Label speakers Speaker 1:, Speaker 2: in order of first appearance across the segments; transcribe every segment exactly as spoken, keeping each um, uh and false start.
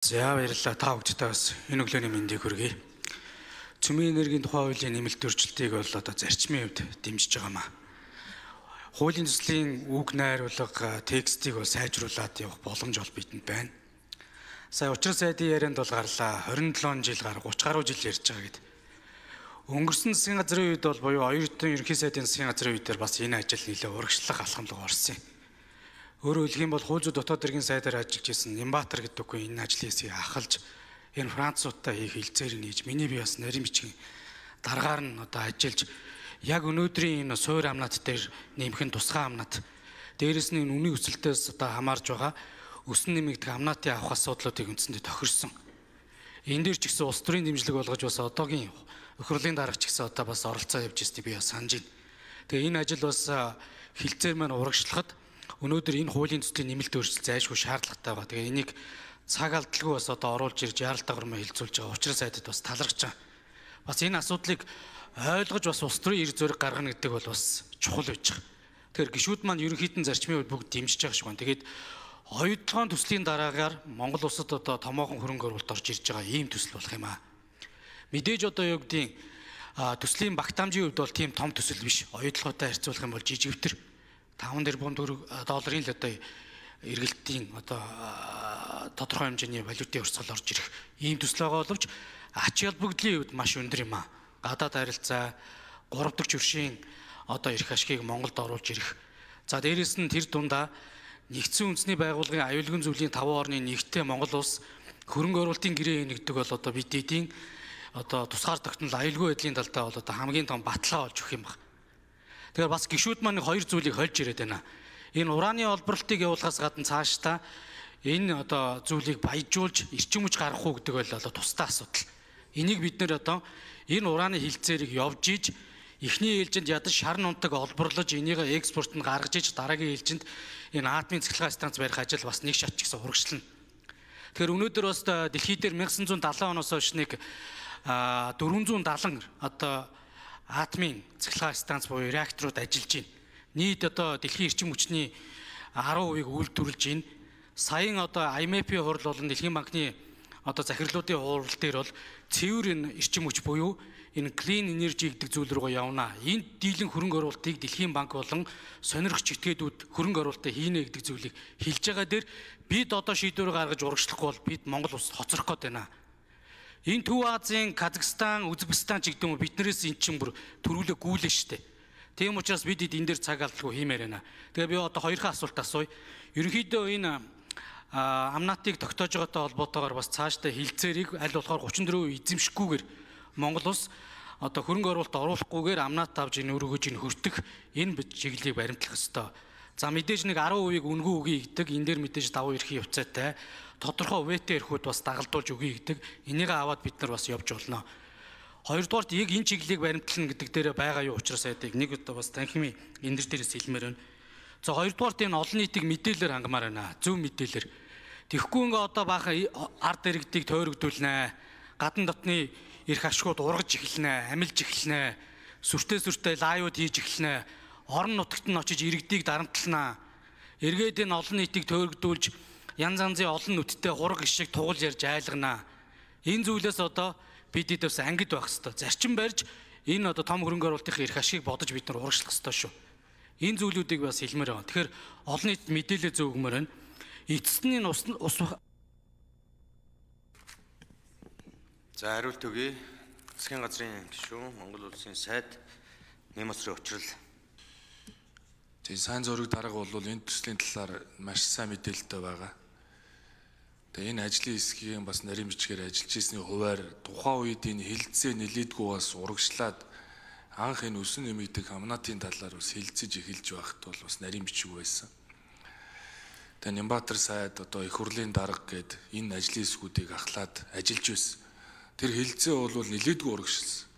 Speaker 1: За баярлалаа та бүхэндээ бас энэ өглөөний мэндийг хүргэе. Цөмийн энергийн тухай хуулийн нэмэлт өөрчлөлтийг бол одоо зарчмын хувьд дэмжиж байгаамаа. Хуулийн төслийн үг найруулга текстийг бол сайжруулад явах боломж бол бидэнд байна. Сая учир сайдын ярианд бол гарлаа хорин долоон жил гар гуч гаруй жил ярьж байгаа гэдэг. Өнгөрсөн засгийн газрын үед бол буюу оюутан ерөнхий сайдын засгийн газрын үед бас энэ ажил нэлээд урагшлах алхамлага орсон юм. Өөрөөр хэлэх юм бол хууль зүйн дотоод иргэн сайдаар ажиллаж исэн Нямбатар гэдэг үгүй энэ ажлын хэсгийг ахалж энэ Француудтай хийх хилцээр нээж миний би бас нарийн бичгийн дараагаар нь одоо ажиллаж яг өнөөдрийн энэ суур амнат дээр нэмэх нь тусгай амнат дээрэс нь энэ үнийн өсөлтөөс одоо хамаарж байгаа өсөн нэмэгдэх амнатын авах асуудлуудыг үндсэндээ тохирсон. Энэ дээр ч гэсэн улс төрийн дэмжлэг болгож бас одоогийн өхрөлийн дарга ч гэсэн одоо бас оролцоо явж ирснийг би бас санаж байна. Тэгээ энэ ажил бас хилцээр маань урагшлахад өнөөдөр энэ хуулийн төслийн нэмэлт өөрчлөлт зайлшгүй шаардлагатай байгаа. Тэгээ энийг цаг алдалгүй бас одоо оруулж ирж яарал дагавармаа хилцүүлж байгаа. Учир сайдад бас талархаж байгаа. Бас энэ асуудлыг ойлгож бас улс төрийн эрх зориг гаргана гэдэг бол бас чухал байж байгаа. Тэгэхээр гишүүд маань ерөнхийдөө зарчмын үед бүгд дэмжиж байгаа шиг байна. Тэгээд оюутлогын төслийн дараагаар Монгол улсад одоо томоохон хөрөнгө оруулалт орж ирж байгаа ийм төсөл болох юм аа. Мэдээж одоо юу гэдгийг төслийн багтаамжийн хувьд бол тийм том төсөл биш. Оюутлоготой харьцуулах юм бол жижигвтер таван тэрбум долларын л одоо эргэлтийн одоо тодорхой хэмжээний валютын өрсгөл орж ирэх ийм төсөл байгаа боловч ач холбогдлын хувьд маш өндөр юм аа. Гадаад харилцаа гурав дахь хөршийн одоо эрх ашгийг Монголд оруулж ирэх. За дээрэс нь тэр дундаа нэгдсэн үндэсний байгууллагын аюулгүй зүйлийн таван орны нэгтээ Монгол улс хөрөнгө оруулалтын гэрээ нэгдэг бол одоо бид эдийн одоо тусгаар тогтнол аюулгүй байдлын талдаа бол одоо хамгийн том баталгаа болж өгөх юм байна. Тэгэхээр бас гишүүд маань хоёр зүйлийг хольж ирээд байна. Энэ ураны олборлтыг явуулахаас гадна цаашдаа энэ одоо зүйлийг баяжуулж эрчим хүч гаргах уу гэдэг бол одоо тусдаа асуудал. Энийг бид нэр одоо энэ ураны хилцээрийг явж иж эхний ээлжинд ядаж шар нунтаг олборлож энийг экспорт нь гаргаж иж дараагийн ээлжинд энэ атомын цэцлэгээ станц барих ажил бас нэг шат ч гэсэн урагшлана. Тэгэхээр өнөөдөр бас дэлхий дээр 천ix сая седьмидесет оноос хойш нэг дөрвөн зуун седемдесет одоо атомын цэцлэгээ станц буюу реакторууд ажиллаж байна. Нийт одоо дэлхийн эрчим хүчний арван хувийг үйлдвэрлэж байна. Саяын одоо ай эм эф-ийн хурал болон Дэлхийн банкны одоо захирлуудын хурал дээр бол цэвэр энэ эрчим хүч буюу энэ clean energy гэдэг зүйл рүү явна. Энд дийлэн хөрөнгө оруулалтыг Дэлхийн банк болон сонирхогч этгээдүүд хөрөнгө оруулалтаа хийнэ гэдэг зүйлийг хэлж байгаа дээр бид одоо шийдвэр гаргаж урагшлахгүй бол бид Монгол улсад хоцрох гээд байна. Энэ Төв Азийн Казахстан, Узбекистан ч гэдэг юм биднээс эн чинь бүр төрүүлээ гүйлээ штэ. Тийм учраас бид энэ дээр цаг алдалгүй хиймээр байна. Тэгээ би одоо хоёрхан асуулт асууя. Ерөнхийдөө энэ амнатыг тогтоож байгаатай холбоотойгоор бас цаашдаа хилцээрийг аль болохоор гучин дөрөв эзэмшихгүйгээр Монгол улс одоо хөрөнгө оруулалт оруулахгүйгээр амнат авж энэ өргөж энэ хөртөх энэ чиглэлийг баримтлах ёстой. За мэдээж нэг арван хувийг үнгүй үгүй гэдэг энэ дээр мэдээж давуу эрхийн явцаатай тодорхой үетэй эрхүүд бас дагалдуулж өгье гэдэг энийг аваад бид нар бас явж болно. Хоёрдугаарт яг энэ чиглэлийг баримтлана гэдэг дээр байгаа юу учраас айдыг нэг удаа бас танхимын энэ дээрээс хэлмээр байна. За хоёрдугаарт энэ олон нийтийг мэдээлэлээр хангамаар байна. Зөв мэдээлэлээр. Тэгэхгүй ингээ одоо баахан ард иргэдийг тойрогдуулнаа. Гадна дотны эрх ашгууд ургаж эхэлнэ, амилж эхэлнэ. Сүртэй сүртэй лайвууд хийж эхэлнэ. Орон нутагт нь очиж иргэдийг дарамтланаа. Эргээд энэ олон нийтийг тойрогдуулж янз янзын олон нүдтэй хураг ишиг тугал ярьж айлганаа. Энэ зүйлээс одоо бид эдээс ангид байх хэрэгтэй. Зарчим барьж энэ одоо том хөрөнгө оруулалтын эрх ашгийг бодож бид нар урагшлах хэрэгтэй шүү. Энэ зүйлүүдийг бас хэлмээр байгаа. Тэгэхээр олон нийт мэдээлэл зөв өгмөр байна. Эцэст нь ус ус
Speaker 2: За хариулт өгье. Засгийн газрын гишүүн Монгол улсын сайд Нямбатарын учрал.
Speaker 3: Тэгээ сайн зураг дарга бол энэ төслийн талаар маш сайн мэдээлэлтэй байгаа. Тэгээ энэ ажлын хэсгийн бас нарийн бичгээр ажиллаж ирсний хуваар тухайн үед энэ хилцээ нэлээдгүй бас урагшлаад анх энэ өсөн нэмэгдэх амнатын талаар бас хилцэж эхэлж байхад бол бас нарийн бичиг байсан. Тэгээ Нямбатар сайд одоо их хурлын дарга гээд энэ ажлын хэсгүүдийг ахлаад ажиллаж байсан. Тэр хилцээ бол нэлээдгүй урагшилсан.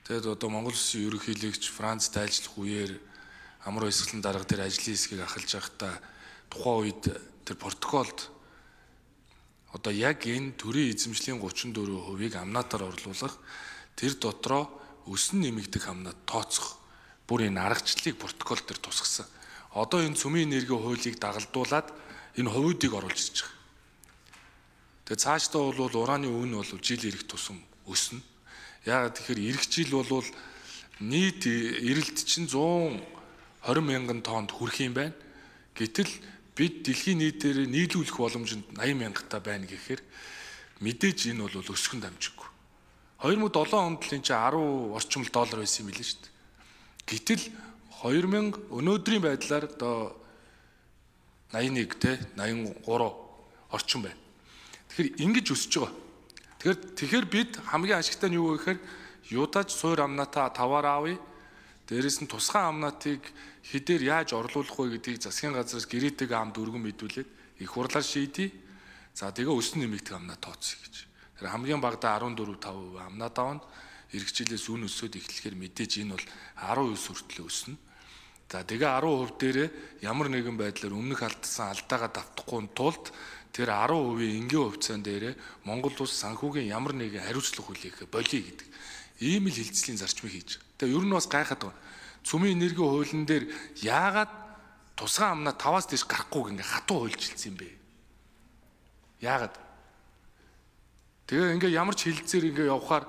Speaker 3: Тэгээд одоо Монгол Улсын ерөнхийлөгч Францд ажиллах үеэр амар хэсгэлэн дарга тэр ажлын хэсгийг ахалж байхдаа тухайн үед тэр протоколд одоо яг энэ төрийн эзэмшлийн гучин дөрвөн хувийг амнатаар орлуулах тэр дотроо өсөн нэмэгдэх амнат тооцох бүр энэ аргачлалыг протокол дээр тусгасан. Одоо энэ цөмийн энерги хуулийг дагалдуулаад энэ хувуудыг оруулж ирж байгаа. Тэгээ цаашдаа бол ураны үн бол жил ирэх тусам өснө. Яагаад тэгэхээр ирэх жил бол нийт эрэлт чинь зуун хорин мянган тоннд хүрэх юм байна. Гэтэл бид дэлхийн нийтээр нийлүүлэх боломжинд наян мянгатаа байна гэхээр мэдээж энэ бол өсгөн дамжиггүй. хоёр мянга долоон онд л энэ чинь арван орчим доллар байсан юм билээ шүү дээ. Гэтэл хоёр мянга өнөөдрийн байдлаар одоо наян нэг те наян гурав орчим байна. Тэгэхээр ингэж өсөж байгаа. Тэгэхээр тэгэхээр бид хамгийн ашигтай нь юу вэ гэхээр юудаач суур амнаатаа таваар аавъя. Дээрээс нь тусгай амнаатыг хэдээр яаж орлуулах вэ гэдгийг засгийн газраас гэрээтэйг амд өргөн мэдүүлээд их хурлаар шийдье. За тэгээ өснө нэмэгдэх амнаа тооцъё гэж. Тэр хамгийн багадаа арван дөрөв таван хувь амнаа давна. Иргэжлээс үн өсөд эхлэхээр мэдээж энэ бол арван хувь хүртэл өснө. За тэгээ арван хувь дээрээ ямар нэгэн байдлаар өмнөх алдсан алдаагаа давтахгүй тулд тэр арван хувийн энгийн хувьцаан дээрээ Монгол улс санхүүгийн ямар нэгэн хариуцлага хүлээх болиё гэдэг. Ийм л хилцлийн зарчмыг хийж. Тэгээ ер нь бас гайхаад байна. Цөмийн энерги хуулийн дээр яагаад тусгай амнаа таваас дээш гарахгүй ингээ хатуу хуульчилсан юм бэ? Яагаад? Тэгээ ингээ ямар ч хилцээр ингээ явхаар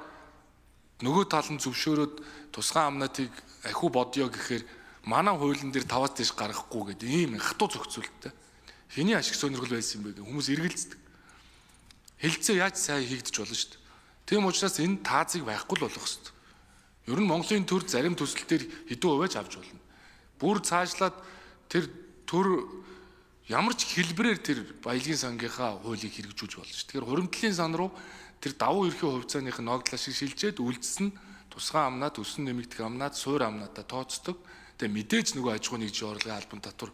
Speaker 3: нөгөө тал нь зөвшөөрөөд тусгай амнаатыг ахиу бодё гэхээр манай хуулийн дээр таваас дээш гаргахгүй гэдэг ийм хатуу зохицуулттай. Хэний ашиг сонирхол байсан юм бэ гэх хүмүүс эргэлздэг. Хилцээ яаж сайн хийгдэж болно шүү дээ. Тийм учраас энэ таазыг байхгүй л болох хэрэгтэй. Ер нь Монголын төр зарим төсөлтөөр хэдэн хувиаж авч болно. Бүр цаашлаад тэр төр ямар ч хэлбэрээр тэр баялагын сангийнхаа хуулийг хэрэгжүүлж болно шүү. Тэгэхээр хуримтлалын сан руу тэр давуу эрхийн хувьцааных нь ногдлоо шиг шилжээд үлдсэн тусгай амнаад өсөн нэмэгдэх амнаад суур амнаатаа тооцдог. Тэгээ мэдээж нөгөө аж ахуйн нэгжийн орлогын албан татвар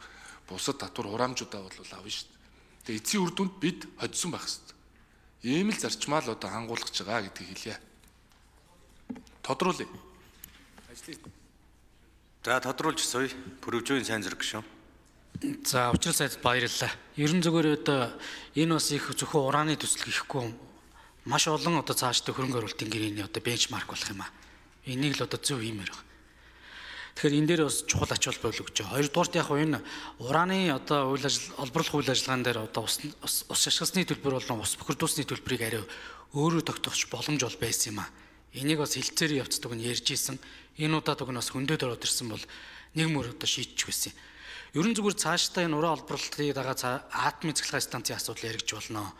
Speaker 3: бусад татвар хураамжуудаа бол авна шүү. Тэгээ эцсийн үр дүнд бид хоцсон байх хэрэгтэй. Ийм л зарчмаа л одоо хангуулж байгаа гэдгийг хэлье. Тодруулъя.
Speaker 2: За тодруулж сууя. Пүрэвжийн сайн зэрэг шүү.
Speaker 1: За учрал сайд баярлалаа. Ерөн зөвгөр одоо энэ бас их зөвхөн ураны төсөл гэхгүй маш олон одоо цаашдаа хөрөнгө оруулалтын гэрээний одоо бенчмарк болох юм аа. Энийг л одоо зөв хиймээр байна. Тэгэхээр энэ дээр бас чухал ач холбогдол өгч байгаа. Хоёрдугаарт яг энэ ураны одоо үйл ажил олборлох үйл ажиллагаан дээр одоо ус ус шашгасны төлбөр болон ус бохирдуулсны төлбөрийг арай өөрөө тогтоохч боломж бол байсан юм аа. Энийг бас хилцээр явцдаг нь ярьж исэн. Энэ удаад уг нь бас хөндөд ороод ирсэн бол нэг мөр одоо шийдчих байсан. Ерөн зүгээр цаашдаа энэ уран олборлолтыг дагаа атомын цэглэгээ станцын асуудал яригдж болно.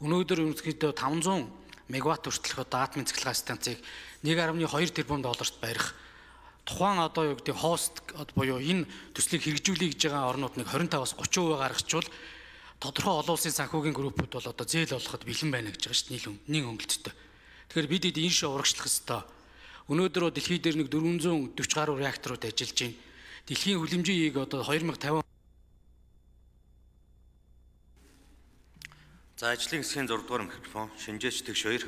Speaker 1: Өнөөдөр ерөнхийдөө таван зуун мегаватт хүртэлх одоо атомын цэглэгээ станцыг нэг гаруй хоёр тэрбум долларт барих тухайн одоо юу гэдэг хост буюу энэ төслийг хэрэгжүүлэе гэж байгаа орнууд нэг двадцать таваас тридцать хувиар гаргачвал тодорхой олон улсын санхүүгийн группүүд бол одоо зээл болоход бэлэн байна гэж байгаа шүү дээ нийл хөнгөлөлттэй. Тэгэхээр бид энэ шиг урагшлах ёстой. Өнөөдөр дэлхий дээр нэг дөрвөн зуун дөрвөн гаруй реакторууд ажиллаж байна. Дэлхийн хүлэмжийн ийг одоо two thousand fifty.
Speaker 2: За ажлын хэсгийн зураг дугаар микрофон Шинжээч Тэгш хоёр.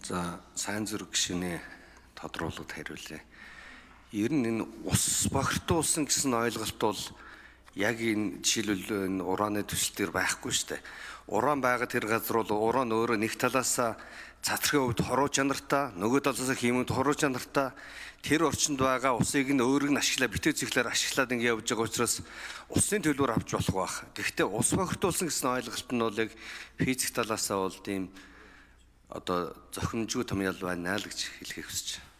Speaker 4: За сайн зүрх гишүүнээ тодруулаад хариулъя. Ер нь энэ ус бохирдуулсан гэсэн ойлголт бол яг энэ жишээлбэл энэ ураны төсөл төр байхгүй шүү дээ. Уран байгаа тэр газар бол уран өөрөө нэг талаас цацрагын хувьд хоруу чанартай, нөгөө талаас хиймэнд хоруу чанартай тэр орчинд байгаа усыг нь өөрөг нь ашиглаа битээ цэглээр ашиглаад ингэ явж байгаа учраас усын төлбөр авч болох байх. Гэхдээ ус бохирдуулсан гэсэн ойлголт нь бол яг физик талаасаа бол тийм одоо зохимжгүй томьёол байна л гэж хэлхийг хүсэж байна.